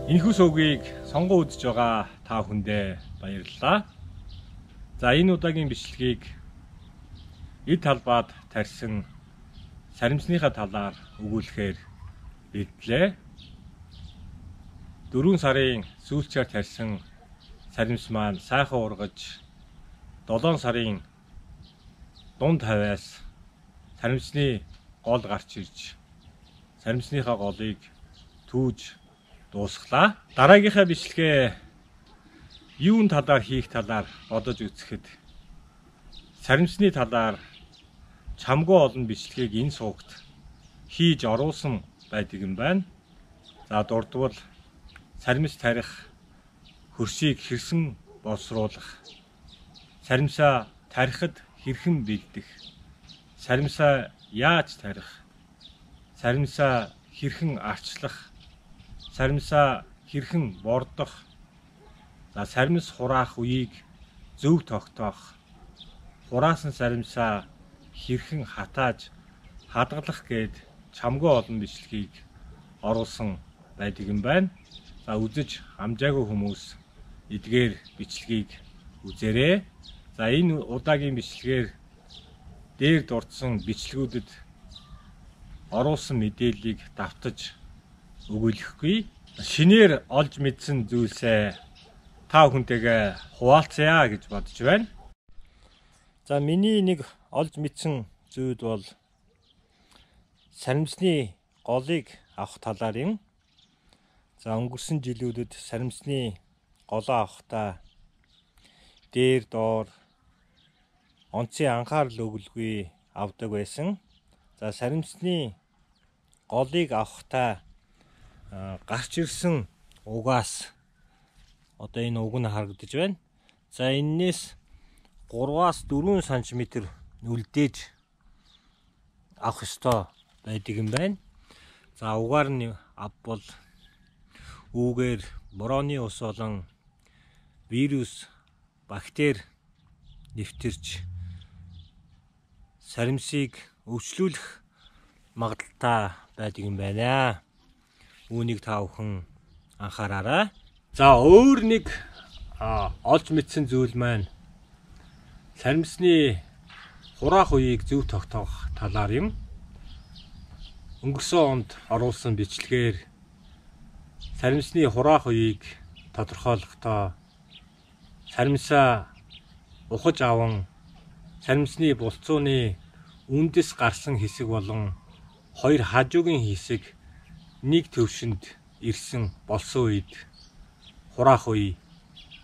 Энэхүү сувгийг сонгон үзэж байгаа та бүхэндээ баярлалаа. За энэ удаагийн бичлэгийг эд талбайд тарьсан саримсныхаа талаар өгүүлэхээр бэлдлээ. 4 сарын сүүлчээр тарьсан саримс маань сайхан ургаж 7 сарын дунд хавьяас саримсны гол гарч ирж саримсныхаа голыг түүж дуусглаа. Дараагийнхаа бичлэгээ юун талаар хийх талаар бодож үзэхэд саримсны талаар чамгүй олон бичлэгийг энэ сувагт хийж оруулсан байдаг юм байна. За дурдвал саримс тарих хөрсийг хэрхэн боловсруулах, саримсаа тарихад хэрхэн бэлдэх, саримсаа яаж тарих, саримсаа хэрхэн арчлах, саримсаа хэрхэн бордох, за саримс хураах үеийг зөв тогтоох, хураасан саримсаа хэрхэн хатааж хадгалах гээд чамгүй олон бичлэгийг оруулсан байдаг юм байна. За үзэж амжаагүй хүмүүс эдгээр бичлэгийг үзээрэй. За энэ удаагийн бичлэгээр дээр дурдсан бичлэгүүдэд оруулсан мэдээллийг давтаж өгүүлэхгүй. Шинээр олж мэдсэн зүйлсээ та бүхэнтэйгээ хуваалцъя гэж бодож байна. За миний нэг олж мэдсэн зүйл бол саримсны голыг авах талаар юм. За өнгөрсөн жилүүдэд саримсны голоо авахдаа дээр доор онцгийн анхаарал өгөлгүй авдаг байсан. За саримсны голыг авахдаа гарч ирсэн угаас одоо энэ уг нь харагдаж байна. За энээс 3-аас 4 см үлдээж авах ёстой байдаг юм байна. За угаар нь авбал үүгээр борооны ус болон вирус, бактери нэвтэрч саримсыг өвчлүүлэх магадaltaй байдаг юм байна. Үүнийг та бүхэн анхаараарай. За өөр нэг олж мэдсэн зүйл маань саримсны хураах үеийг зөв тогтоох талаар юм. Өнгөрсөн онд оруулсан бичлэгээр саримсны хураах үеийг тодорхойлохдоо саримсаа ухаж аван саримсны булцууны үндэс гарсан хэсэг болон хоёр хажуугийн хэсэг нэг төвшөнд ирсэн болсон үед хураах үе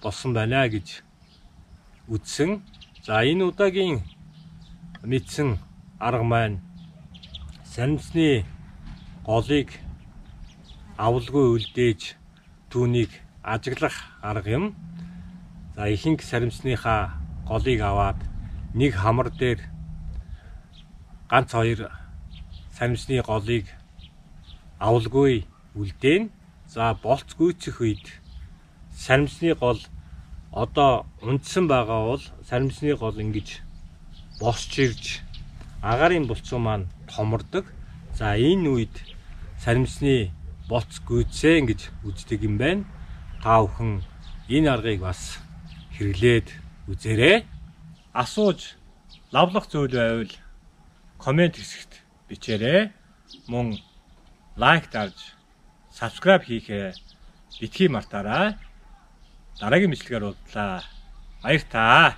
болсон байна гэж үзсэн. За энэ удаагийн мэдсэн арга маань саримсны голыг авалгүй үлдээж түүнийг ажиглах арга юм. За ихэнх саримсныхаа голыг аваад нэг хамар дээр ганц хоёр саримсны голыг авалгүй үлдээн. За болц гүйцэх үед саримсны гол одоо унтсан байгаа бол саримсны гол ингэж босч ирж агаарын булцуу маань томордог. За энэ үед саримсны болц гүйцээ гэж үздэг юм байна. Та бүхэн энэ аргыг бас хэрэглээд үзээрэй. Асууж лавлах зүйл байвал комент хэсэгт бичээрэй. Мөн лайк дарж subscribe хийхээ битгий мартаарай. Дараагийн бичлэгээр уулзлаа. Баяр таа.